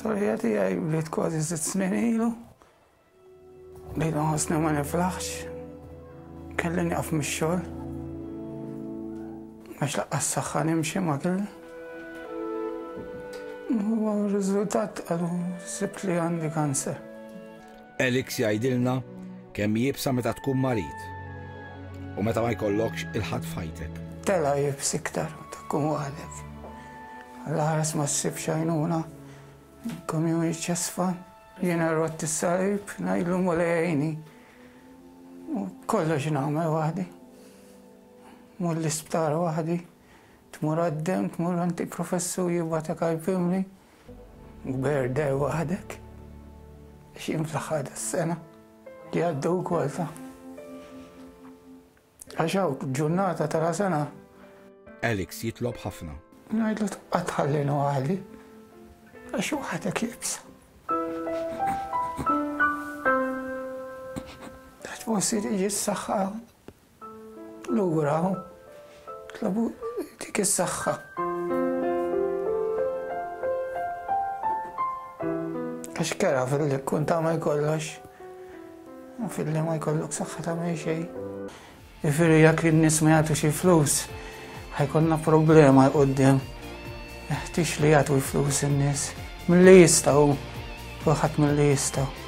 L-istorja tiegħi bdiet kważi sitt snin ilu. Bdejt nħossni ma niflaħx. Kelli nieqaf mix-xogħol. Għax laqqas saħħa nimxi ma kelli. U r-riżultat qalu sibt li għandi kanser. Alex jgħidilna kemm iebsa meta tkun marid u meta ma jkollokx il-ħadd f'ħajtek. Tela' iebs iktar meta tkun waħdek. Alla ħares ma ssibx għajnuna, community chest fund. Jiena rott is-salib, ngħidlu Mulej għinni. U kollox nagħmel waħdi. Mur l-isptar waħdi, tmur għad-demm, tmur għand il-professur jibgħatek għall-pimli. Berder waħdek. X'jien fl-aħħar tas-sena li għaddew ukoll ta' Għax hawn ġurnata tara sena. Alex jitlob ħafna. Ngħidlu tibqa' tħallini waħdi. Għax waħdek iebsa. Għax forsi tiġi s-saħħa lura tlabu dik is-saħħa. Għax kera fil-li kun tagħmel kollox. U filli ma jkollok saħħa tagħmel xejn. Jiġifieri jekk in-nies ma jagħtu xi flus, ħajkollna problema 'l quddiem. Jeħtieġ li jagħtu l-flus in-nies. Milli jistgħu, kulħadd milli jistgħu.